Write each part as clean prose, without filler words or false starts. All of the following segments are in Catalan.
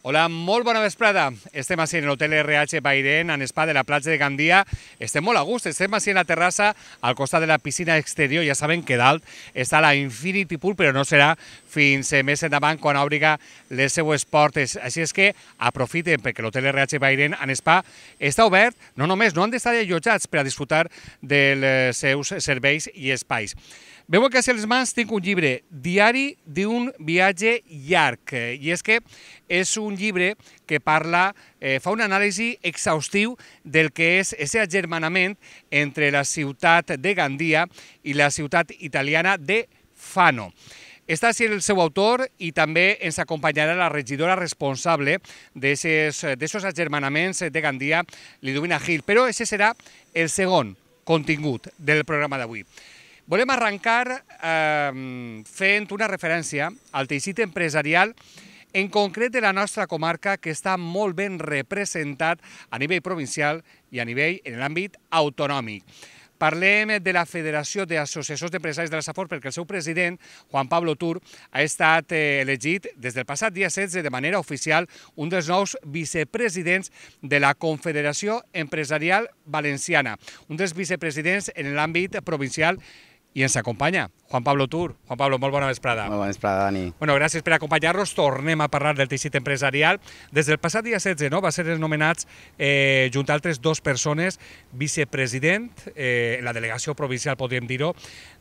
Hola, molt bona vesprada. Estem així en l'hotel RH Bairén, en spa de la platja de Gandia. Estem molt a gust, estem així en la terrassa, al costat de la piscina exterior. Ja saben que dalt està la Infinity Pool, però no serà fins més endavant quan obriga les seues portes. Així és que aprofiten, perquè l'hotel RH Bairén en spa està obert, no han d'estar allotjats per a disfrutar dels seus serveis i espais. Veu que a les mans tinc un llibre, Diari d'un viatge llarg, i és que és un llibre que parla, fa un anàlisi exhaustiu del que és aquest agermanament entre la ciutat de Gandia i la ciutat italiana de Fano. Està així el seu autor i també ens acompanyarà la regidora responsable d'aquests agermanaments de Gandia, Liduvina Gil, però aquest serà el segon contingut del programa d'avui. Volem arrencar fent una referència al teixit empresarial, en concret de la nostra comarca, que està molt ben representat a nivell provincial i a nivell en l'àmbit autonòmic. Parlem de la Federació d'Associacions d'Empresaris de la Safor perquè el seu president, Juan Pablo Tur, ha estat elegit des del passat dia 16 de manera oficial un dels nous vicepresidents de la Confederació Empresarial Valenciana, un dels vicepresidents en l'àmbit provincial. I ens acompanya Juan Pablo Tur. Juan Pablo, molt bona vesprada. Molt bona vesprada, Dani. Bueno, gràcies per acompanyar-nos. Tornem a parlar del teixit empresarial. Des del passat dia 16 va ser nomenats, junt a altres dues persones, vicepresident, en la delegació provincial, podríem dir-ho,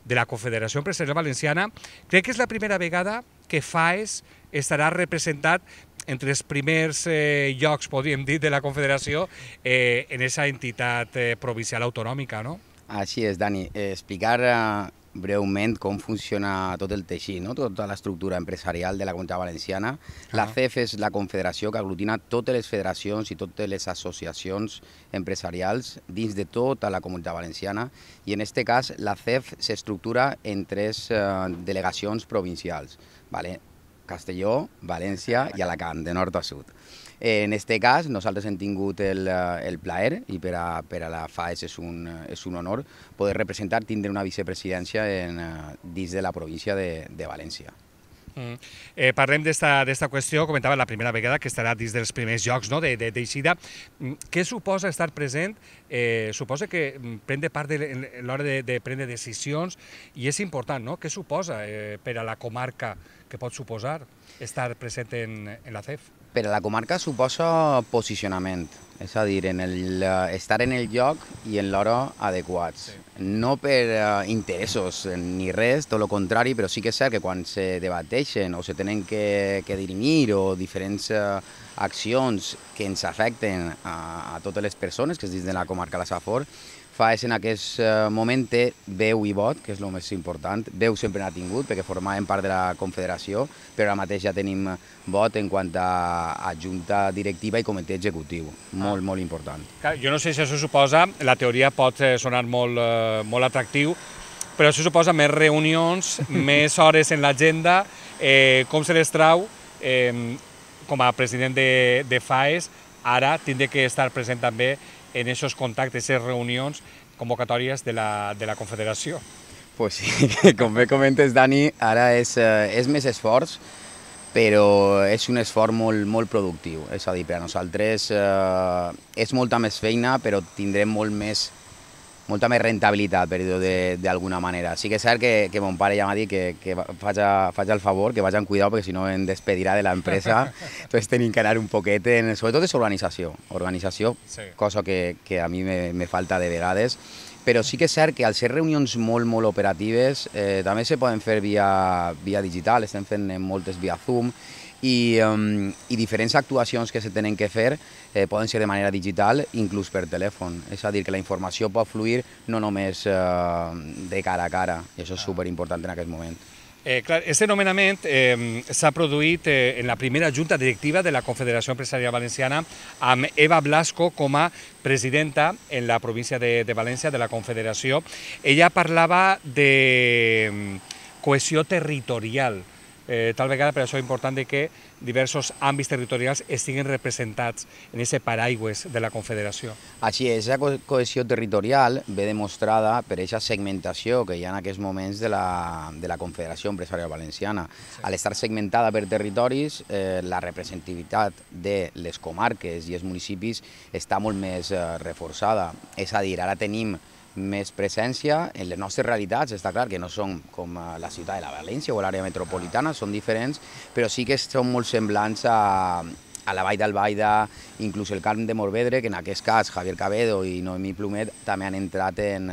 de la Confederació Empresarial Valenciana. Crec que és la primera vegada que FAES estarà representat entre els primers llocs, podríem dir, de la Confederació en aquesta entitat provincial autonòmica, no? Així és, Dani. Explicar breument com funciona tot el teixit, no? Tota l'estructura empresarial de la Comunitat Valenciana. La CEF és la confederació que aglutina totes les federacions i totes les associacions empresarials dins de tota la Comunitat Valenciana i en aquest cas la CEF s'estructura en tres delegacions provincials, Castelló, València i Alacant, de nord a sud. En aquest cas, nosaltres hem tingut el plaer, i per a la FAES és un honor, poder representar, tindre una vicepresidència dins de la província de València. Parlem d'esta qüestió, comentava la primera vegada que estarà dins dels primers llocs d'eixida. Què suposa estar present? Suposa que prendre part a l'hora de prendre decisions i és important, no? Què suposa per a la comarca que pot suposar estar present en la CEF? Per a la comarca suposa posicionament, és a dir, estar en el lloc i en l'hora adequats. No per interessos ni res, tot el contrari, però sí que és cert que quan se debateixen o se tenen que dirimir o diferents accions que ens afecten a totes les persones que es dins de la comarca de la Safor, FAES en aquest moment té veu i vot, que és el més important. Veu sempre n'ha tingut, perquè formàvem part de la Confederació, però ara mateix ja tenim vot en quant a junta directiva i comitè executiu. Molt, molt important. Jo no sé si això suposa, la teoria pot sonar molt atractiu, però això suposa més reunions, més hores en l'agenda. Com se les trau, com a president de FAES, ara tindré que estar present també en aquests contactes, aquestes reunions, convocatòries de la Confederació. Pues sí, com bé comentes, Dani, ara és més esforç, però és un esforç molt productiu. És a dir, per a nosaltres és molta més feina, però tindrem molta més rentabilitat, per dir-ho d'alguna manera. Sí que és cert que mon pare ja m'ha dit que faig el favor, que vaig amb cuidado, perquè si no em despedirà de l'empresa. Entonces tenim que anar un poquet, sobretot és organització, cosa que a mi me falta de vegades. Però sí que és cert que al ser reunions molt operatives també se poden fer via digital, estem fent moltes via Zoom, i diferents actuacions que se tenen que fer poden ser de manera digital, inclús per telèfon. És a dir, que la informació pot fluir no només de cara a cara, i això és superimportant en aquest moment. Aquest nomenament s'ha produït en la primera junta directiva de la Confederació Empresarial Valenciana amb Eva Blasco com a presidenta en la província de València de la Confederació. Ella parlava de cohesió territorial. tal vegada per això és important que diversos àmbits territorials estiguin representats en aquest paraigües de la Confederació. Així és, la cohesió territorial ve demostrada per aquesta segmentació que hi ha en aquests moments de la Confederació Empresarial Valenciana. Al estar segmentada per territoris, la representativitat de les comarques i els municipis està molt més reforçada. És a dir, ara tenim més presència en les nostres realitats, està clar que no són com la ciutat de la València o l'àrea metropolitana, són diferents, però sí que són molt semblants a la Vall d'Albaida, inclús el Camp de Morvedre, que en aquest cas Javier Cabedo i Noemí Plumet també han entrat en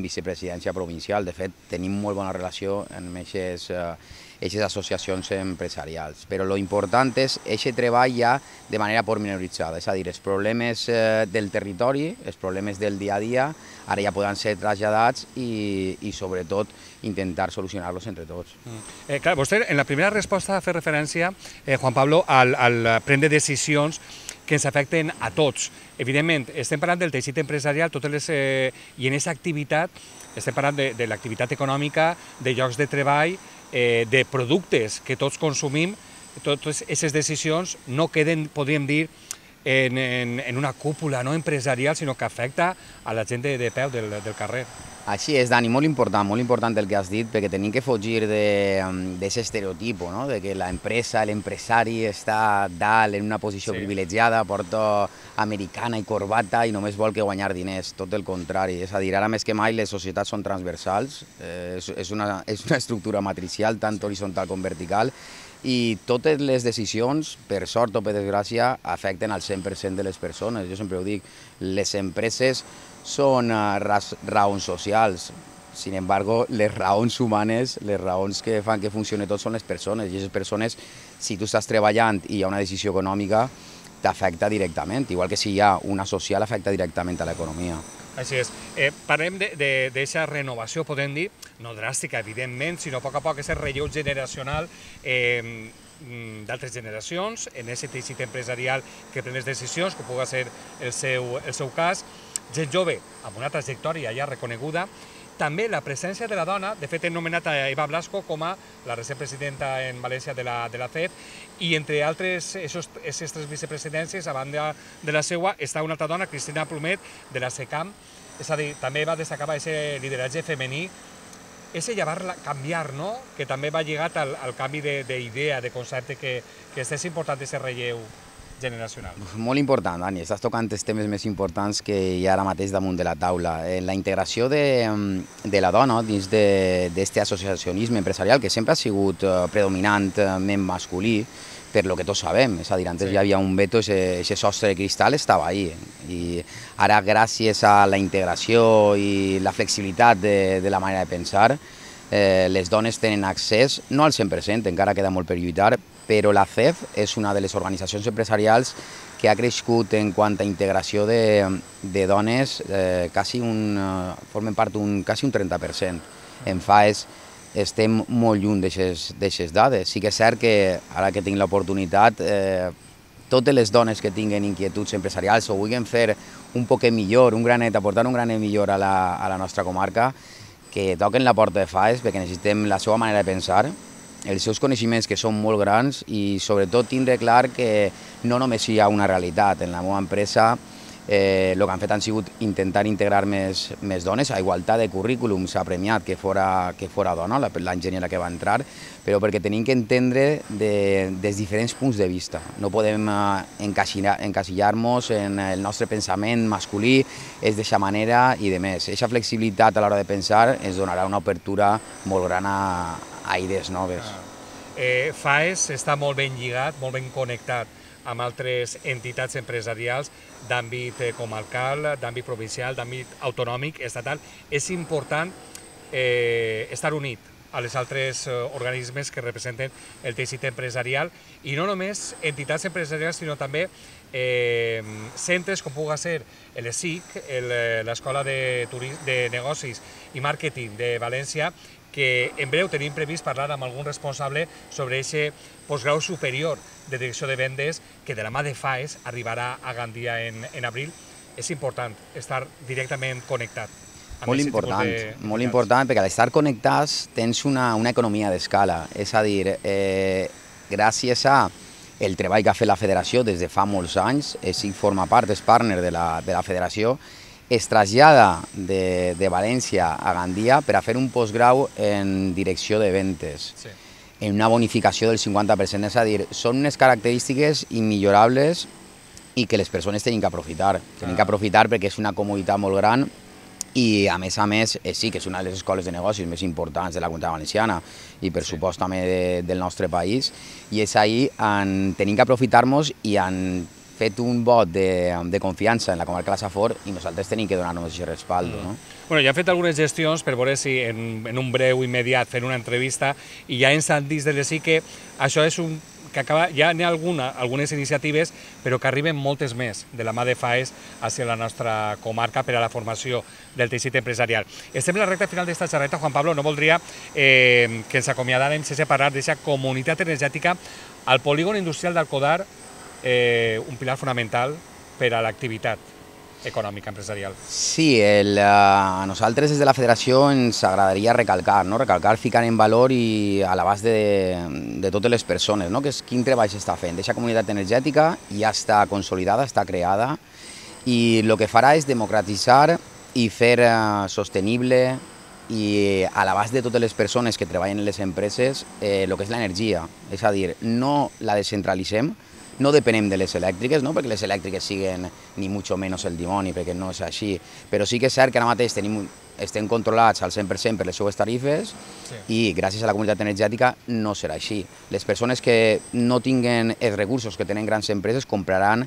vicepresidència provincial. De fet, tenim molt bona relació amb aquestes associacions empresarials. Però l'important és aquest treball ja de manera pormenoritzada, és a dir, els problemes del territori, els problemes del dia a dia, ara ja poden ser traslladats i sobretot intentar solucionar-los entre tots. Clar, vostè en la primera resposta ha fet referència, Juan Pablo, al prendre decisions que ens afecten a tots. Evidentment, estem parlant del teixit empresarial i en aquesta activitat estem parlant de l'activitat econòmica, de llocs de treball, de productes que tots consumim. Totes aquestes decisions no queden, podríem dir, en una cúpula no empresarial, sinó que afecta a la gent de peu del carrer. Així és, Dani, molt important el que has dit, perquè tenim que fugir d'aquest estereotip, no? De que l'empresa, l'empresari està dalt en una posició privilegiada, porta americana i corbata i només vol que guanyar diners, tot el contrari. És a dir, ara més que mai les societats són transversals, és una estructura matricial, tant horitzontal com vertical, i totes les decisions, per sort o per desgràcia, afecten al 100% de les persones. Jo sempre ho dic, les empreses són raons socials, sin embargo, les raons humanes, les raons que fan que funcioni tot són les persones, i aquestes persones, si tu estàs treballant i hi ha una decisió econòmica, t'afecta directament, igual que si hi ha una social, afecta directament a l'economia. Així és. Parlem d'aquesta renovació, podem dir, no dràstica, evidentment, sinó a poc, aquest relleu generacional d'altres generacions, en aquest teixit empresarial que pren les decisions, que pugui ser el seu cas, gent jove amb una trajectòria ja reconeguda. També la presència de la dona, de fet hem nomenat a Eva Blasco com a la recent presidenta en València de la CEF, i entre altres aquestes tres vicepresidències, a banda de la seva, està una altra dona, Cristina Plumet, de la SECAM, és a dir, també va destacar aquest lideratge femení, és canviar, no?, que també va lligat al canvi d'idea, de concepte, que és important aquest relleu generacional. Molt important, Dani, estàs tocant els temes més importants que hi ha ara mateix damunt de la taula. La integració de la dona dins d'aquest associacionisme empresarial, que sempre ha sigut predominantment masculí, per lo que tots sabem, és a dir, antes hi havia un veto, aquest sostre de cristal estava ahí, i ara gràcies a la integració i la flexibilitat de la manera de pensar, les dones tenen accés, no al 100%, encara queda molt per lluitar, però la CEF és una de les organitzacions empresarials que ha crescut en quant a integració de dones, formen part quasi un 30%. En FAES estem molt lluny d'aquestes dades. Sí que és cert que, ara que tinc l'oportunitat, totes les dones que tinguen inquietuds empresarials o vulguin fer un poquet millor, aportar un granet millor a la nostra comarca, que toquen la porta de FAES, perquè necessitem la seva manera de pensar, els seus coneixements, que són molt grans, i sobretot tindre clar que no només hi ha una realitat. En la meva empresa el que han fet han sigut intentar integrar més dones. A igualtat de currículum s'ha premiat que fora dona, l'enginyera que va entrar, però perquè tenim que entendre des diferents punts de vista. No podem encasillar-nos en el nostre pensament masculí, és d'aquesta manera i de més. Aquesta flexibilitat a l'hora de pensar ens donarà una obertura molt gran a idees noves. FAES està molt ben lligat, molt ben connectat amb altres entitats empresarials d'àmbit comarcal, d'àmbit provincial, d'àmbit autonòmic, estatal. És important estar unit a les altres organismes que representen el teixit empresarial, i no només entitats empresarials, sinó també centres com pugui ser l'ESIC, l'Escola de Negocis i Màrqueting de València, que en breu tenim previst parlar amb algun responsable sobre aquest postgrau superior de direcció de vendes que de la mà de FAES arribarà a Gandia en abril. És important estar directament connectat. Molt important, perquè al estar connectats tens una economia d'escala, és a dir, gràcies a el treball que ha fet la federació des de fa molts anys, si forma part, és partner de la federació, es trasllada de València a Gandia per a fer un postgrau en direcció de ventes, en una bonificació del 50%, és a dir, són unes característiques immillorables i que les persones tenen que aprofitar. Tenen que aprofitar perquè és una comoditat molt gran i, a més, sí que és una de les escoles de negocis més importants de la Comunitat Valenciana i, per supost, també del nostre país. I és ahir, tenim que aprofitar-nos i han fet un vot de confiança en la comarca de la Safor i nosaltres tenim que donar-nos aquest respaldo. Bueno, ja han fet algunes gestions per veure si en un breu immediat fent una entrevista i ja ens han dit des de sí que això és un que acaba, ja n'hi ha algunes iniciatives, però que arriben moltes més de la mà de FAES hacia la nostra comarca per a la formació del teixit empresarial. Estem en la recta final d'esta xerreta, Juan Pablo, no voldria que ens acomiadàrem sense parlar d'aquesta comunitat energètica al polígon industrial d'Alcodar, un pilar fonamental per a l'activitat econòmica, empresarial. Sí, a nosaltres des de la federació ens agradaria recalcar, ficar en valor i a l'abast de totes les persones, que és quin treball s'està fent. Aquesta comunitat energètica ja està consolidada, està creada i el que farà és democratitzar i fer sostenible i a l'abast de totes les persones que treballen en les empreses el que és l'energia. És a dir, no la descentralitzem, no depenem de les elèctriques, perquè les elèctriques siguen ni mucho menos el dimoni, perquè no és així, però sí que és cert que ara mateix estem controlats al 100% per les seues tarifes i gràcies a la comunitat energètica no serà així. Les persones que no tinguen els recursos que tenen grans empreses compraran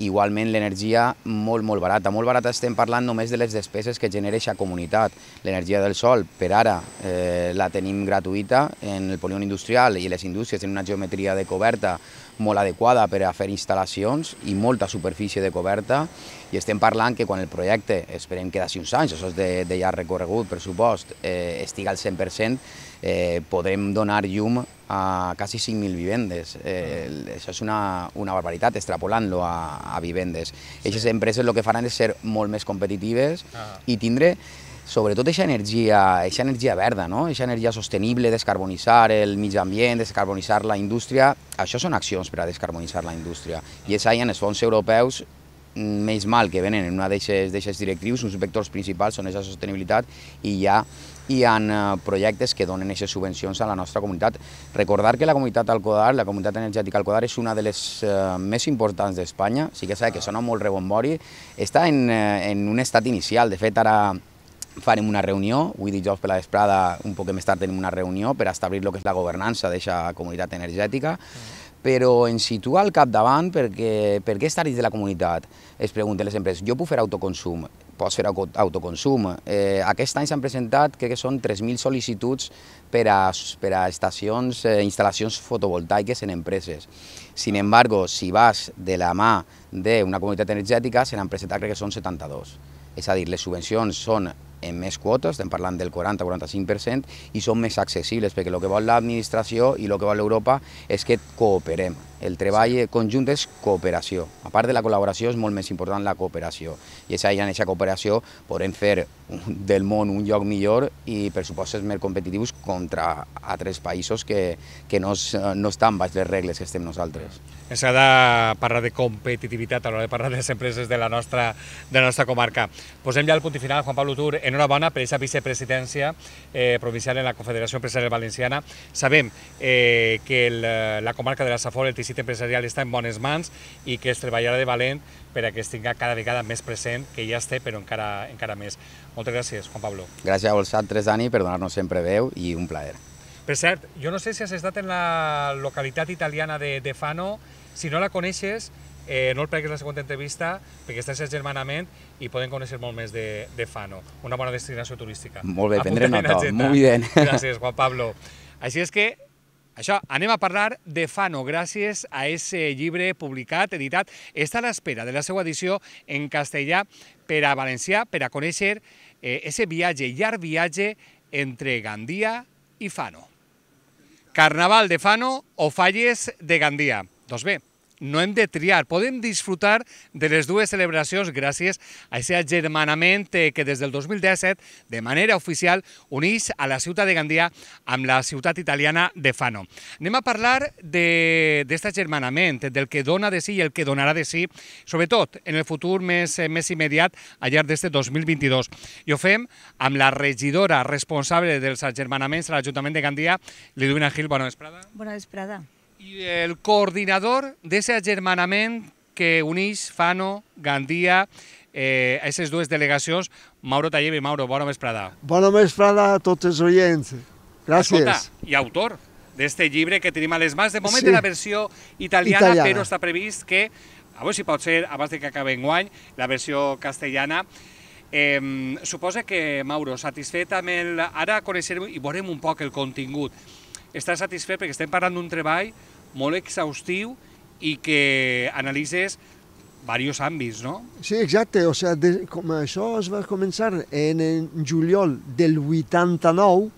igualment l'energia molt barata. Molt barata estem parlant només de les despeses que genera aquesta comunitat. L'energia del sol, per ara, la tenim gratuïta en el polígon industrial i les indústries tenen una geometria de coberta molt adequada per a fer instal·lacions i molta superfície de coberta i estem parlant que quan el projecte, esperem que d'ací uns anys, això és de llarg recorregut, per supost, estigui al 100%, podrem donar llum a quasi 5.000 vivendes. Això és una barbaritat, extrapolant-lo a vivendes. Aquestes empreses el que faran és ser molt més competitives i tindre sobretot aquesta energia verda, aquesta energia sostenible, descarbonitzar el mig ambient, descarbonitzar la indústria, això són accions per a descarbonitzar la indústria. I és ahí en els fons europeus, menys mal que venen en una d'aquestes directrius, uns vectors principals són aquesta sostenibilitat i ja hi ha projectes que donen aquestes subvencions a la nostra comunitat. Recordar que la comunitat Alcodar, la comunitat energètica Alcodar, és una de les més importants d'Espanya, sí que que sona molt rebombori, està en un estat inicial, de fet ara farem una reunió, avui dijous per la vesprada, un poc més tard tenim una reunió per establir el que és la governança d'aquesta comunitat energètica, però ens situa al capdavant perquè per què estar dins de la comunitat? Es pregunten les empreses, jo puc fer autoconsum? Pots fer autoconsum. Aquest any s'han presentat, crec que són 3.000 sol·licituds per a estacions, instal·lacions fotovoltaiques en empreses. Sin embargo, si vas de la mà d'una comunitat energètica, se n'han presentat, crec que són 72. És a dir, les subvencions són en més quotes, estem parlant del 40-45%, i són més accessibles, perquè el que vol l'administració i el que vol l'Europa és que cooperem. El treball conjunt és cooperació. A part de la col·laboració és molt més important la cooperació. I és ahí en aquesta cooperació podrem fer del món un lloc millor i pressupostos més competitius contra altres països que no estan baix les regles que estem nosaltres. Ens ha de parlar de competitivitat a l'hora de parlar de les empreses de la nostra comarca. Posem ja el punt final, Juan Pablo Tur, enhorabona per aquesta vicepresidència provincial en la Confederació Empresarial Valenciana. Sabem que la comarca de la Safor, el teixit empresarial, està en bones mans i que es treballarà de valent per a que es tinga cada vegada més present, que ja es té, però encara més. Moltes gràcies, Juan Pablo. Gràcies a vosaltres, Dani, per donar-nos sempre veu i un plaer. Per cert, jo no sé si has estat en la localitat italiana de Fano. Si no la coneixes, no el pleguis la següent entrevista, perquè estàs agermanament i poden conèixer molt més de Fano. Una bona destinació turística. Molt bé, prendré nota. Molt bé. Gràcies, Juan Pablo. Així és que, això, anem a parlar de Fano, gràcies a aquest llibre publicat, editat. Està a l'espera de la seva edició en castellà per a valencià, per a conèixer aquest viatge, llarg viatge entre Gandia i Fano. Carnaval de Fano o Falles de Gandia. Doncs bé, no hem de triar, podem disfrutar de les dues celebracions gràcies a aquest agermanament que des del 2017, de manera oficial, uneix a la ciutat de Gandia amb la ciutat italiana de Fano. Anem a parlar d'aquest agermanament, del que dona de si i el que donarà de si, sobretot en el futur més immediat, al llarg d'este 2022. I ho fem amb la regidora responsable dels agermanaments a l'Ajuntament de Gandia, Liduvina Gil. Bona vesprada. Bona vesprada. I el coordinador d'aquest agermanament que uneix Fano, Gandia, aquestes dues delegacions, Mauro Talleve. Mauro, bona vesprada. Bona vesprada a tots els oients. Gràcies. Escolta, i autor d'este llibre que tenim a les mans, de moment de la versió italiana, però està previst que, a veure si pot ser, abans que acabi enguany, la versió castellana. Suposa que, Mauro, satisfet amb el... Ara coneixerem i veurem un poc el contingut. Estàs satisfet perquè estem parlant d'un treball molt exhaustiu i que analitzes diversos àmbits, no? Sí, exacte. O sigui, com això es va començar en juliol del 89,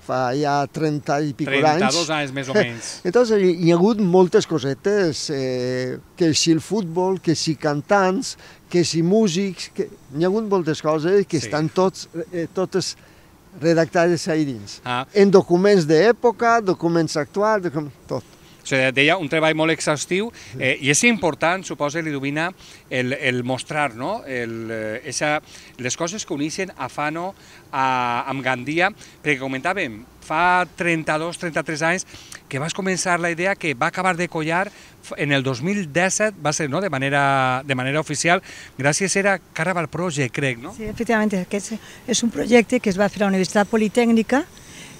fa ja 30 i pico d'anys. 32 anys, més o menys. Entonces, hi ha hagut moltes cosetes, que si el futbol, que si cantants, que si músics, hi ha hagut moltes coses que estan totes redactades ahí dins. En documents d'època, documents actuals, tot. O sigui, deia, un treball molt exhaustiu i és important, suposa, Liduvina, el mostrar, no? Les coses que uneixen a Fano amb Gandia, perquè comentàvem, fa 32-33 anys que vas començar la idea que va acabar de collar en el 2017, va ser, no?, de manera oficial, gràcies a Caraval Project, crec, no? Sí, efectivament, aquest és un projecte que es va fer a la Universitat Politècnica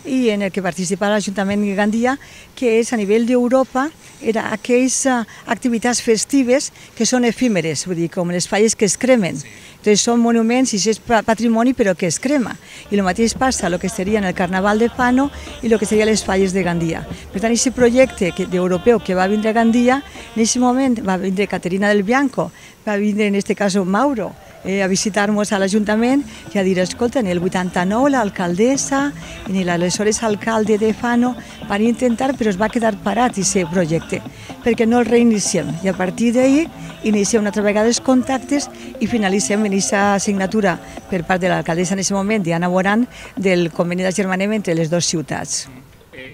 i en el que participa l'Ajuntament de Gandia, que és a nivell d'Europa, era aquelles activitats festives que són efímeres, vull dir, com les falles que es cremen. Entonces són monuments i és patrimoni però que es crema. I el mateix passa el que seria en el Carnaval de Fano i el que serien les falles de Gandia. Per tant, aquest projecte europeu que va vindre a Gandia, en aquest moment va vindre Caterina del Bianco, va vindre en aquest cas Mauro, a visitar-nos a l'Ajuntament i a dir, escolta, en el 89 l'alcaldessa i l'aleshores alcalde de Fano van intentar, però es va quedar parat aquest projecte, perquè no el reiniciem. I a partir d'ahir iniciem una altra vegada els contactes i finalitzem en aquesta signatura per part de l'alcaldessa en aquest moment, Diana Boran, del conveni d'agermanament entre les dues ciutats.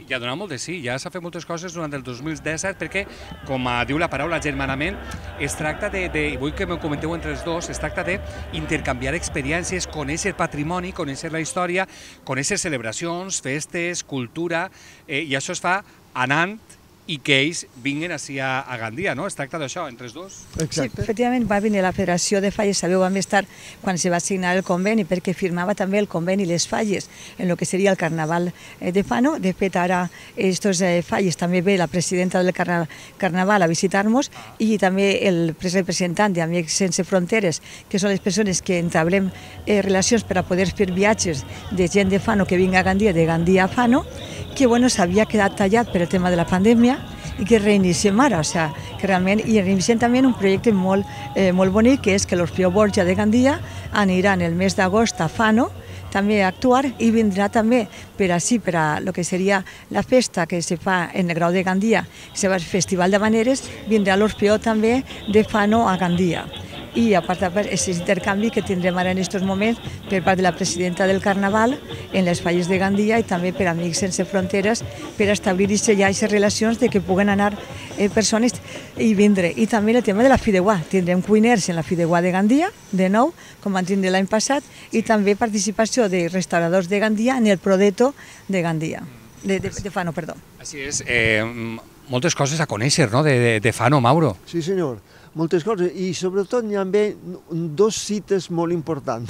Ja dona molt de sí, ja s'ha fet moltes coses durant el 2017 perquè, com diu la paraula agermanament, es tracta de, i vull que m'ho comenteu entre els dos, es tracta d'intercanviar experiències, conèixer patrimoni, conèixer la història, conèixer celebracions, festes, cultura, i això es fa anant i que ells vinguin ací a Gandia, no? Es tracta d'això, entre els dos. Sí, efectivament, va venir la Federació de Falles, sabeu, vam estar quan se va signar el conveni, perquè firmava també el conveni les falles en el que seria el Carnaval de Fano. De fet, ara aquestes falles també ve la presidenta del Carnaval a visitar-nos i també el representant d'Amics Sense Fronteres, que són les persones que entablem relacions per a poder fer viatges de gent de Fano que vinga a Gandia, de Gandia a Fano, que bueno, s'havia quedat tallat per el tema de la pandèmia i que reiniciem ara, o sea, que realment, i reiniciem també un projecte molt bonic, que és que l'Orfeó Borja de Gandia anirà en el mes d'agost a Fano, també a actuar, i vindrà també per ací, per a el que seria la festa que se fa en el Grau de Gandia, que se fa el Festival d'Havaneres, vindrà l'Orfeó també de Fano a Gandia. I a part d'aquest intercanvi que tindrem ara en aquests moments per part de la presidenta del Carnaval en les falles de Gandia i també per Amics Sense Fronteres per establir ja aquestes relacions de que puguen anar persones i vindre. I també el tema de la Fideuà. Tindrem cuiners en la Fideuà de Gandia, de nou, com van tindre l'any passat, i també participació de restauradors de Gandia en el Prodeto de Gandia, de Fano, perdó. Així és, moltes coses a conèixer, no?, de Fano, Mauro. Sí, senyor. Moltes coses, i sobretot hi ha dos cites molt importants,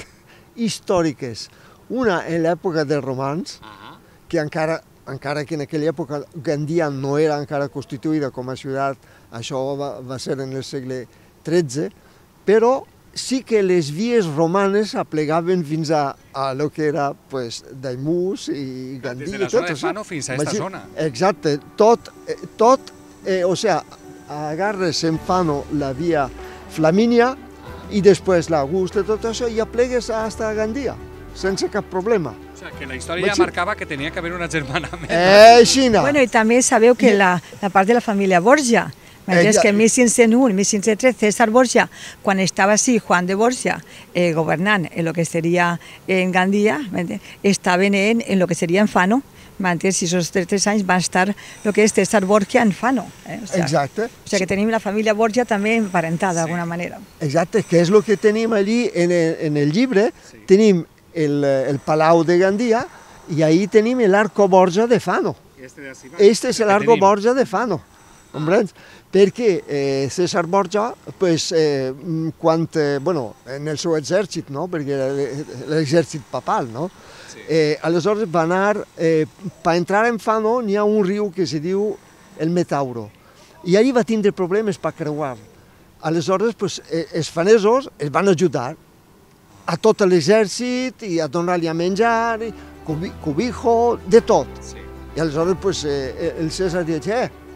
històriques. Una en l'època dels romans, que encara que en aquella època Gandia no era encara constituïda com a ciutat, això va ser en el segle XIII, però sí que les vies romanes aplegaven fins a lo que era Daimús i Gandia. Des de la zona de Fano fins a aquesta zona. Exacte, tot, o sea, agarres en Fano la via Flamínia i després l'Augusta, tot això, i aplegues fins a Gandia, sense cap problema. O sigui, que la història ja marcava que tenia que haver un agermanament. Xina. Bueno, i també sabeu que la part de la família Borja M'entens? Que en 1501, 1503, César Borgia, quan estava així, Juan de Borgia, governant en lo que seria en Gandia, estaven en lo que seria en Fano, m'entens? I aquests 3 anys van estar el que és César Borgia en Fano. Exacte. O sigui que tenim la família Borgia també emparentada d'alguna manera. Exacte, que és el que tenim allí en el llibre, tenim el Palau de Gandia i ahí tenim l'Arco Borgia de Fano. Este és l'Arco Borgia de Fano, comprens? Perquè César Borgia, en el seu exèrcit, no? Perquè era l'exèrcit papal, no? Aleshores va anar, per entrar en Fano n'hi ha un riu que se diu el Metauro, i allí va tindre problemes per creuar. Aleshores, els fanesos es van ajudar a tot l'exèrcit i a donar-li a menjar, cobijo, de tot. I aleshores el César diu,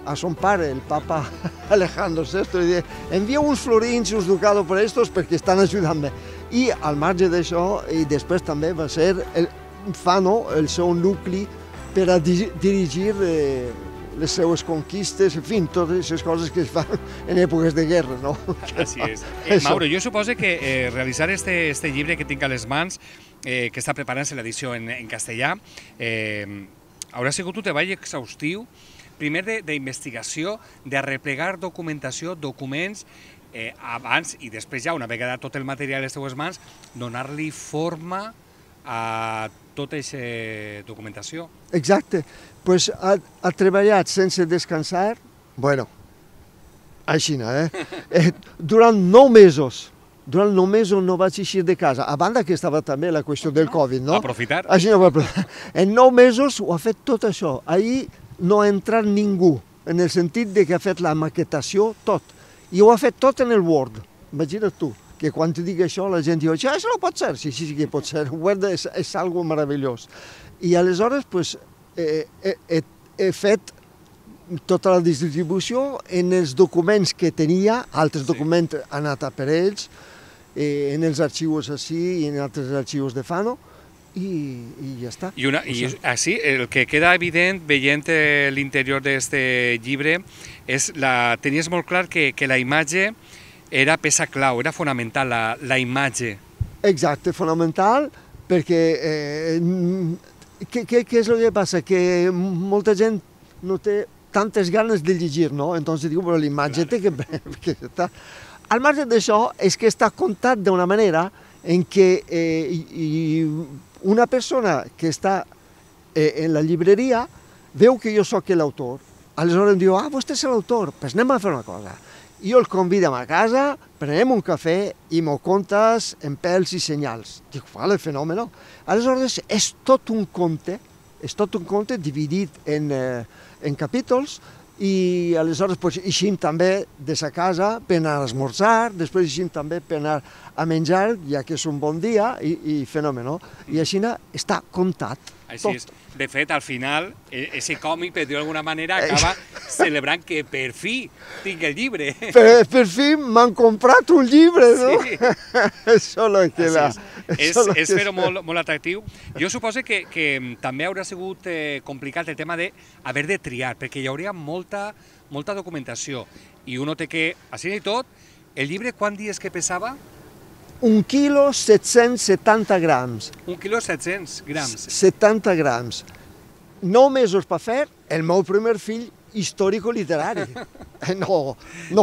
a son pare, el papa Alejandro VI, li diu, envia uns florins i uns ducados per estos perquè estan ajudant-me. I al marge d'això, i després també va ser Fano el seu nucli per a dirigir les seues conquistes, en fi, totes les coses que es fan en èpoques de guerra, no? Així és. Mauro, jo suposo que realitzar este llibre que tinc a les mans, que està preparant-se l'edició en castellà, haurà sigut un treball exhaustiu, primer d'investigació, de replegar documentació, documents, abans i després ja, una vegada tot el material a les teues mans, donar-li forma a tota aquesta documentació. Exacte. Pues ha treballat sense descansar, bueno, així, durant 9 mesos. Durant 9 mesos no vaig eixir de casa, a banda que estava també la qüestió del Covid, no? Aprofitar. Així no va aprofitar. En 9 mesos ho ha fet tot això. Ahir no ha entrat ningú, en el sentit de que ha fet la maquetació, tot. I ho ha fet tot en el Word. Imagina't tu, que quan te dic això la gent diu, això no pot ser. Sí, sí que pot ser. Word és algo meravellós. I aleshores, he fet tota la distribució en els documents que tenia, altres documents han anat per ells, en els arxius així i en altres arxius de Fano, i ja està. I així, el que queda evident veient l'interior d'aquest llibre és tenies molt clar que la imatge era peça clau, era fonamental, la imatge. Exacte, fonamental, perquè què és el que passa? Que molta gent no té tantes ganes de llegir, no? Entonces diu, però l'imatge té que estar... Al marge d'això, és que està contat d'una manera en què una persona que està en la llibreria veu que jo sóc l'autor. Aleshores em diu, vostè és l'autor, doncs anem a fer una cosa. Jo el convidem a casa, prenem un cafè i m'ho contes en pèls i senyals. Dic, vale, fenòmeno. Aleshores és tot un conte dividit en capítols, i aleshores eixim també de sa casa per anar a esmorzar, després eixim també per anar a menjar, ja que és un bon dia, i fenòmeno. I així està contat. Així és. De fet, al final, ese còmic, per dir-ho d'alguna manera, acaba celebrant que per fi tinc el llibre. Per fi m'han comprat un llibre, no? Sí. Això és fer-ho molt atractiu. Jo suposo que també haurà sigut complicat el tema d'haver de triar, perquè hi hauria molta documentació. I uno té que, així i tot, el llibre quant dies que pesava? 1 quilo 770 grams. 1 quilo 700 grams. 70 grams. 9 mesos per fer el meu primer fill històrico-literari. No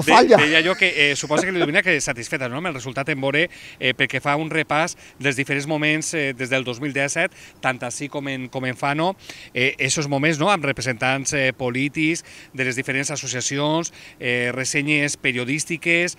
falla. Deia jo que suposo que l'Ilumina que satisfeta amb el resultat en veure perquè fa un repàs dels diferents moments des del 2017, tant així com en Fano, aquests moments amb representants polítics de les diferents associacions, ressenyes periodístiques,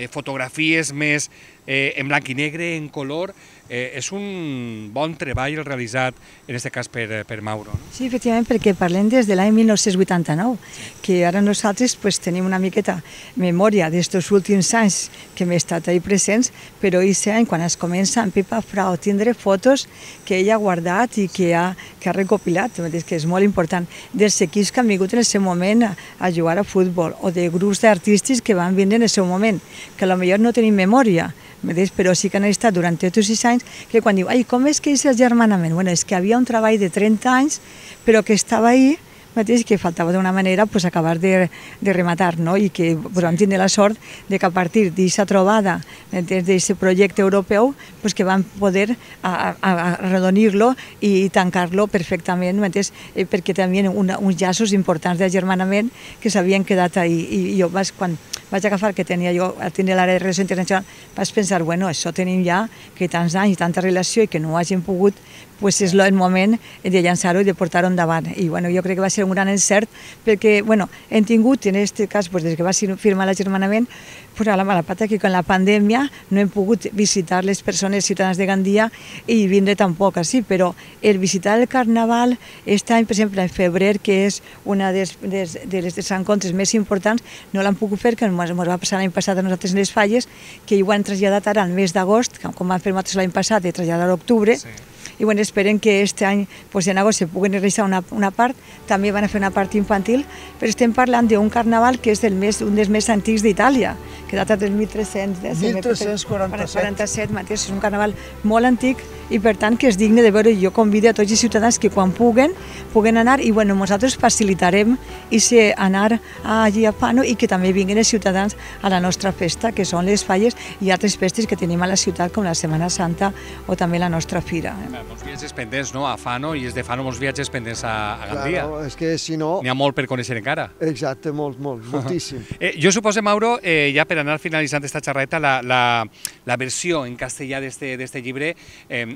fotografies més en blanc i negre, en color. És un bon treball realitzat, en aquest cas, per Mauro. Sí, efectivament, perquè parlem des de l'any 1989, que ara nosaltres tenim una miqueta memòria d'aquests últims anys que hem estat ahí presents, però aquest any, quan es comença amb Pepa Frau a tindre fotos que ella ha guardat i que ha recopilat, que és molt important, dels equips que han vingut en el seu moment a jugar a futbol, o de grups d'artistes que van vindre en el seu moment, que potser no tenim memòria, però sí que han estat durant tots aquests anys, que quan diu, com és que és el germanament? Bueno, és que havia un treball de 30 anys, però que estava ahí, mateix que faltava d'una manera pues, acabar de rematar, no? I que vam tenir la sort de que a partir d'aquesta trobada, d'aquest projecte europeu, pues, que vam poder arredonir-lo i tancar-lo perfectament, perquè tenien uns llaços importants d'agermanament que s'havien quedat ahí. I jo quan vaig agafar que tenia jo a tenir l'àrea de relació internacional, vaig pensar, bueno, això tenim ja que tants anys i tanta relació i que no ho hagin pogut, pues és el moment de llançar-ho i de portar-ho endavant. I bueno, jo crec que va ser un gran encert perquè bueno, hem tingut, en aquest cas, pues, des que va firmar l'agermanament, pues, a la mala pata que con la pandèmia no hem pogut visitar les persones ciutadans de Gandia i vindre tampoc així, però el visitar el Carnaval aquest any, per exemple, en febrer, que és una de les encontres més importants, no l'han pogut fer, que ens va passar l'any passat a nosaltres en les Falles, que ho han traslladat ara al mes d'agost, com van fer nosaltres l'any passat, de traslladar a octubre, i bueno, esperen que aquest any, pues, en agost, se puguen realitzar una part, també van a fer una part infantil, però estem parlant d'un carnaval que és un dels més antics d'Itàlia, que data del 1347, mateix, és un carnaval molt antic i per tant que és digne de veure. Jo convido a tots els ciutadans que quan puguen anar i bueno, nosaltres facilitarem anar allí a Fano i que també vinguin els ciutadans a la nostra festa, que són les Falles i altres festes que tenim a la ciutat com la Setmana Santa o també la nostra fira. Molts viatges pendents, no?, a Fano, i és de Fano molts viatges pendents a Gandia. Claro, és que si no... N'hi ha molt per conèixer encara. Exacte, moltíssim. Jo suposo, Mauro, ja per anar finalitzant aquesta xerreta, la versió en castellà d'este llibre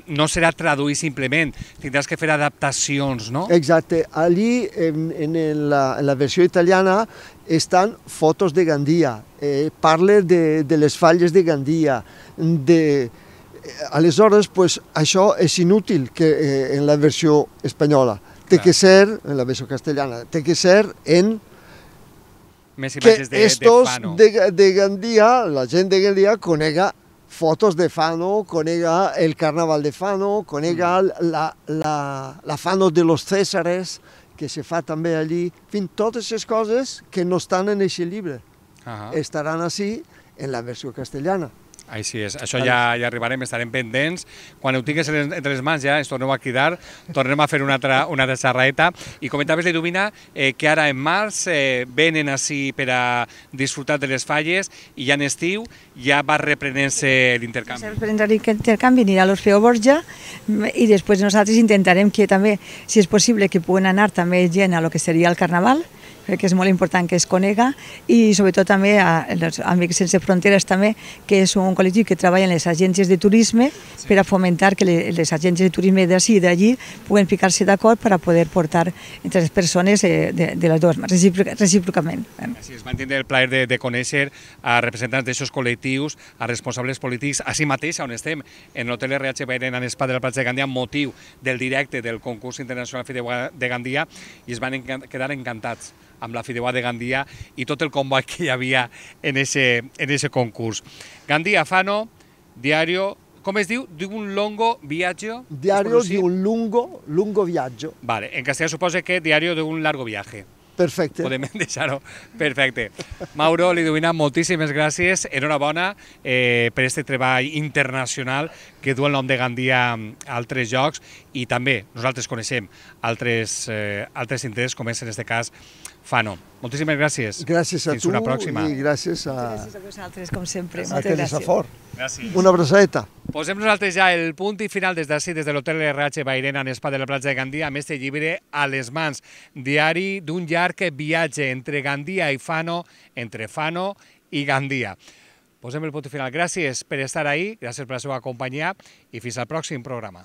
no serà traduir simplement, tindràs que fer adaptacions, no? Exacte. Allí, en la versió italiana, estan fotos de Gandia, parla de les falles de Gandia, aleshores, pues, això és inútil que en la versió espanyola. Té que ser, en la versió castellana, té que ser en que estos de Gandia, la gent de Gandia, conega fotos de Fano, conega el carnaval de Fano, conega la Fano de los Césares, que se fa també allí. En fi, totes aquestes coses que no estan en aquest llibre estaran així en la versió castellana. Així és, això ja arribarem, estarem pendents. Quan ho tingues entre les mans ja ens torneu a cridar, tornem a fer una altra xerraeta. I comentaves, Liduvina, que ara en març venen així per a disfrutar de les falles i ja en estiu ja va reprenent-se l'intercanvi. L'intercanvi anirà a l'Orfeo Borja i després nosaltres intentarem que també, si és possible, que puguen anar també gent a lo que seria el Carnaval, que és molt important que es conega, i sobretot també als Amics Sense Fronteres també, que és un col·lectiu que treballa en les agències de turisme per a fomentar que les agències de turisme d'ací i d'allí puguen ficar-se d'acord per a poder portar entre les persones de les dues, recíprocament. Així es, van tindre el plaer de conèixer a representants d'aquests col·lectius, a responsables polítics, així mateix on estem, en l'hotel RH Bairén en Espa de la platja de Gandia, motiu del directe del concurs internacional Fideuà de Gandia, i es van quedar encantats amb la Fideuà de Gandia i tot el comboi que hi havia en ese concurs. Gandia Fano, diario, com es diu? D'un lungo viaggio? Diario di un lungo viaggio. Vale, en castellà suposa que diario d'un largo viaje. Perfecte. Podem deixar-ho. Perfecte. Mauro, Liduvina, moltíssimes gràcies. Enhorabona per aquest treball internacional que du el nom de Gandia a altres llocs i també nosaltres coneixem altres interessos, com és en aquest cas Fano. Moltíssimes gràcies. Gràcies a tu. Fins una pròxima. I gràcies a vosaltres, com sempre. a Teresa Fort. Gràcies. Una abraçadeta. Posem nosaltres ja el punt i final des d'ací, des de l'hotel RH Bairén en Espa de la platja de Gandia, amb este llibre a les mans. Diari d'un llarg viatge entre Gandia i Fano, entre Fano i Gandia. Posem el punt i final. Gràcies per estar ahí, gràcies per la seva companyia i fins al pròxim programa.